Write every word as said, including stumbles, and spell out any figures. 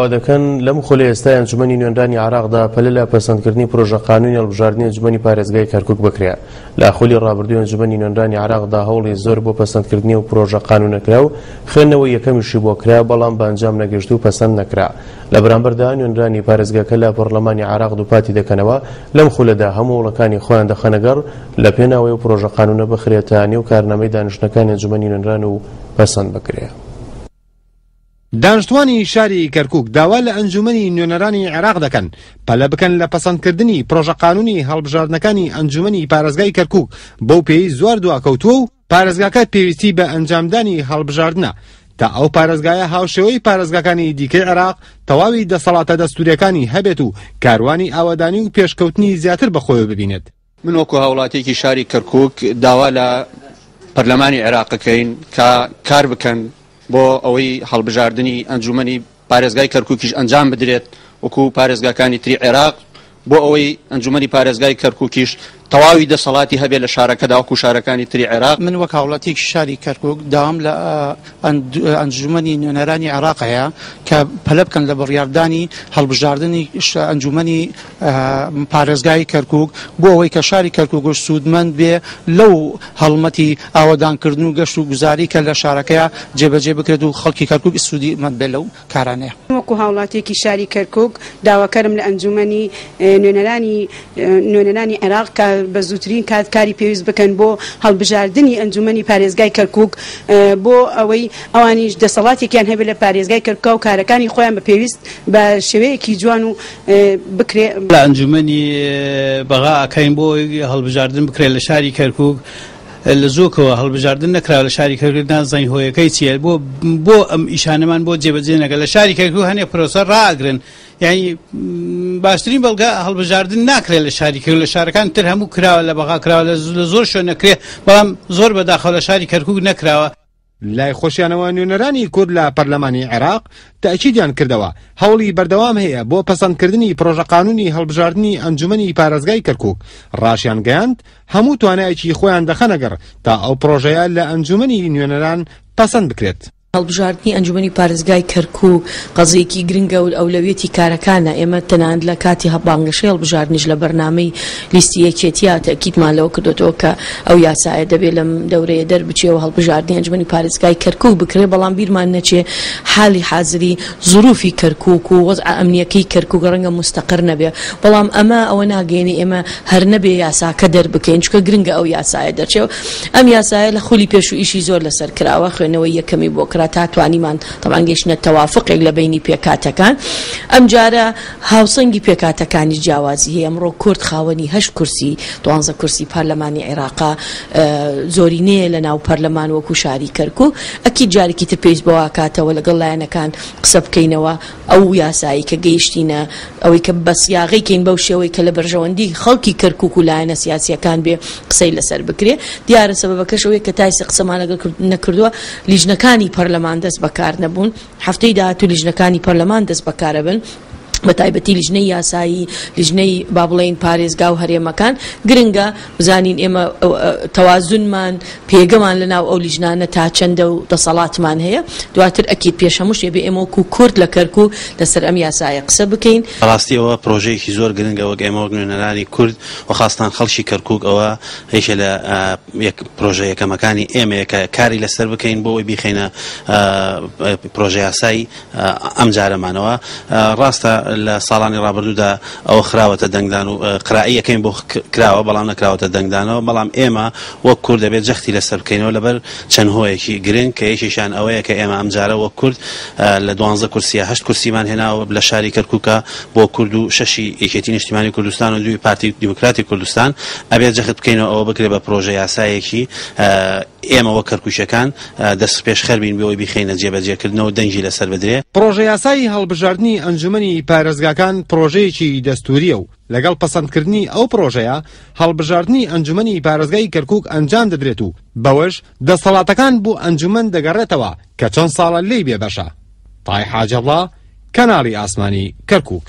دەکەن لەم خولە ئێستای ئەنجومەنی نوێنەرانی عێراقدا پەلە لە پەسەندکردنی پرۆژە قانونی هەڵبژاردنی ئەنجومەنی پارێزگای کەرکوک بکرێت. لە خولی ڕابردووی ئەنجومەنی نوێنەرانی عێراقدا هەوڵی زۆر بۆ پەسەندکردنی و پرۆژە قانونە کرا و خوێندنەوەی یەکەمیشی بۆ کرا، بەڵام بە ئەنجام نەگەشت و پەسەند نەکرا. لە بەرامبەردا نوێنەرانی پارێزگاکە لە پەرلەمانی عێراق دووپاتی دەکەنەوە لەم خولەدا هەموو هەوڵەکانی خۆیان دەخەنەگەڕ لە پێناوەی و پرۆژە قانونە بخرێتە نێو کارنامەی دانیشتنەکانی ئەنجومەنی نوێنەران و پەسەند بکرێت. دانیشتوانی شاری کەرکوک داوا لە ئەنجومەنی نوێنەرانی عێراق دەکەن پەلە بکەن لە پەسەندکردنی پرۆژە قانونی هەڵبژاردنەکانی ئەنجومەنی پارێزگای کەرکوک بەو پێی زۆر دواکەوتووە و پارێزگاکە پێویستی بە ئەنجامدانی هەڵبژاردنە تا ئەو پارێزگایە هاوشێوەی پارێزگاکانی دیکەی عێراق تەواوی دەسەڵاتە دەستوریەکانی هەبێت و کاروانی ئاوەدانی و پێشکەوتنی زیاتر بەخۆیەوە ببینێت. من وەکو هاوڵاتیەکی شاری کەرکوک داوا لە پەرلەمانی عێراقەکەین کە کار بکەن بۆ ئەوەی هەڵبژاردنی ئەنجومەنی پارێزگای کەرکوکیش ئەنجام بدرێت وەکو پارێزگاکانی تری عێراق، بۆ ئەوەی ئەنجومەنی پارێزگای کەرکوکیش تەواوی دەسەڵاتی هەبێت لە شارەکەدا وەکو شارەکانی تری عێراق. من وەک هاوڵاتیەکی شاری کەرکوک داوام لە ئەنجومەنی نوێنەرانی عێراق هەیە کە پەلە بکەن لە بڕیاردانی هەڵبژاردنی ئەنجومەنی پارێزگای کەرکوک بۆ ئەوەی کە شاری کەرکوک سوودمەند بێ لەو هەڵمەتی ئاوەدانکردن و گەشت و گوزاری کە لە شارەکەیە جێبەجێ بکرێت و خەڵکی کەرکوک سوودیمەند بێ لەو کارانەیە. وەکو هاوڵاتیەکی شاری کەرکوک داواکەرم لە ئەنجومەنی نوێنەرانی نوێنەرانی عێراق کە بە زووترین کات کاری پێویست بکەن بۆ هەڵبژاردنی ئەنجومەنی پارێزگای کەرکوک بۆ ئەوەی ئەوانیش دەسەڵاتێکیان هەبێت لە پارێزگای کەرکوک و کارەکانی خۆیان بە پێویست بە شێوەیەکی جوان و بکرێ. لە ئەنجومەنی بەغا ئەکەین بۆ هەڵبژاردن بکرێت لە شاری کەرکوک. لە زۆکەوە هەڵبژاردن نەکراوە لە شاری کەرکوک، نازانین هۆیەکەی چییە بۆ بۆ ئەم ئیشانەمان بۆ جێبەجێ نەکە. لە شاری کەرکوک هەنێ پرۆسە ڕائەگرن، یعنی باشترین بەڵگە هەڵبژاردن ناکرێت لە شاری کەرکوک. لە شارەکان تر هەموو کراوە، لە بەغا کراوە، لە زۆر شوێن نەکرێت، بەڵام زۆر بەداخەوە لە شاری کەرکوک نەکراوە. لای خۆشیانەوە نوێنەرانی کورد لە پەرلەمانی عێراق تەئکیدیان کردەوە هەوڵی بەردەوام هەیە بۆ پەسەندکردنی پرۆژە قانونی هەڵبژاردنی ئەنجومەنی پارێزگای کەرکوک. ڕاشیان گەیاند هەموو توانایەکی خۆیان دەخەنەگەڕ تا ئەو پرۆژەیە لە ئەنجومەنی نوێنەران پەسەند بکرێت. هەڵبژاردنی ئەنجومەنی پارێزگای کەرکوک قەزیەکی گرنگە و ئەولەویەتی کارەکانە. ئێمە تەنانەت لە کاتی بانگەشەی هەڵبژاردنیش لە بەرنامەی لیستی یەکێتیە تەئکیدمان لەوە کردوێتەوە کە ئەو یاسایە دەبێت لەم دەورەیە دەربچێەوە هەڵبژاردنی ئەنجومەنی پارێزگای کەرکوک بکرێت. بەڵام بیرمان نەچێ حالی حازری زروفی کەرکوک و وەزع ئەمنیەکەی کەرکوک ڕەنگە مستەقر نەبێ، بەڵام ئەمە ئەوە ناگەێنێ ئێمە هەر نەبێ یاساکە دەربکەین، چونکە گرنگە ئەو یاسایە دەرچێ. ئەم یاسایە لە خولی پێش و ئیشی زۆر لەسەر کراوە، خوێندنەوەی یەکەمی بۆ کرا تا توانیمان طبعا گەیشتنە تەوافقێک لە بینی پێکاتەکان. ئەمجارە هاوسەنگی پێکاتەکانی جیاوازی هەیە. ئەمڕۆ کورد خاوەنی هەشت کورسی دوانزە کورسی پەرلەمانی عێراقا زۆرینەیە لە ناو پەرلەمان وەکو شاری کەرکوک. ئەکید جارێکی تر پێویست بەواکاتەوە لەگەڵ لایەنەکان قسە بکەینەوە ئەو یاسایی کە گەیشتینە ئەوەی کە بە سیاغەی کەین بەو شێوەی کە لە بەرژەوەندی خەڵکی کەرکوک و لایەنە سیاسیەکان بێ قسەی لەسەر بکرێ. دیارە سەبەبەکەش ئەوەیە کە تایسە قسەمان لەگەڵ نەکردووە لیژنەکانی پەرلەمان دەست بەکار نەبوون. هەفتەی داهاتوو لیژنەکانی پەرلەمان دەست بەکارە بن، بە تایبەتی لیژنەی یاسایی، لیژنەی با بڵێین پارێزگا و هەرێمەکان. گرنگە بزانین ئێمە تەوازنمان پێگەمان لەناو ئەو لیژنانە تا چەندە و دەسەڵاتمان هەیە. دواتر ئەکید پێش هەموو شتێ بێ ئێمە وەکو کورد لە کەرکوک لەسەر ئەم یاسایە قسە بکەین. ڕاستی ئەوە پرۆژەیەکی زۆر گرنگە وەک ئێمە وەک نوێنەرانی کورد و خاستان خەڵکی کەرکوک، ئەوە یەکێ لە پرۆژە یەکەمەکانی ئێمەیە کە کاری لەسەر بکەین بۆ ئەوەی بیخەینە پرۆژە یاسای ئەم جارەمانەوە. ڕاستە لە ساڵانی ڕابردوودا ئەوە خراوەتە دەنگدان و قرائیەکەین بۆ کراوە، بەڵام نەکراوەتە دەنگدانەوە. بەڵام ئێمە وەک کورد دەبێت جەختی لەسەر بکەینەوە لەبەر چەند هۆیەکی گرنگ کە یەکێکیان ئەوەیە کە ئێمە ئەمجارە وەک کورد لە دوانزە کورسیە هەشت کورسیمان هێناوە لە شاری کەرکوکە بۆ کورد و شەشی یەکێتی نیشتیمانی کوردستان و دووی پارتی دیموکراتی کوردستان. ئەبێت جەخت بکەینەوە ئەوە بکرێت بە پرۆژە یاسایەکی ئێمە وەک کەرکوکیەکان دەست پێشخەر بین بۆ ئەوەی بیخەینە جێبەجێکردنەوە دەنگی لەسەر بدرێ. پرۆژە یاسایی هەڵبژاردنی ئەنجومەنی پارێزگاکان پرۆژەیەکی دەستوریە و لەگەڵ پەسەندکردنی ئەو پرۆژەیە هەڵبژاردنی ئەنجومەنی پارێزگای کەرکوک ئەنجام دەدرێت و بەوەش دەسەڵاتەکان بۆ ئەنجومەن دەگەڕێتەوە کە چەند ساڵە لێی بێبەشە. تای حاجەڵا، کەناڵی ئاسمانی کەرکوک.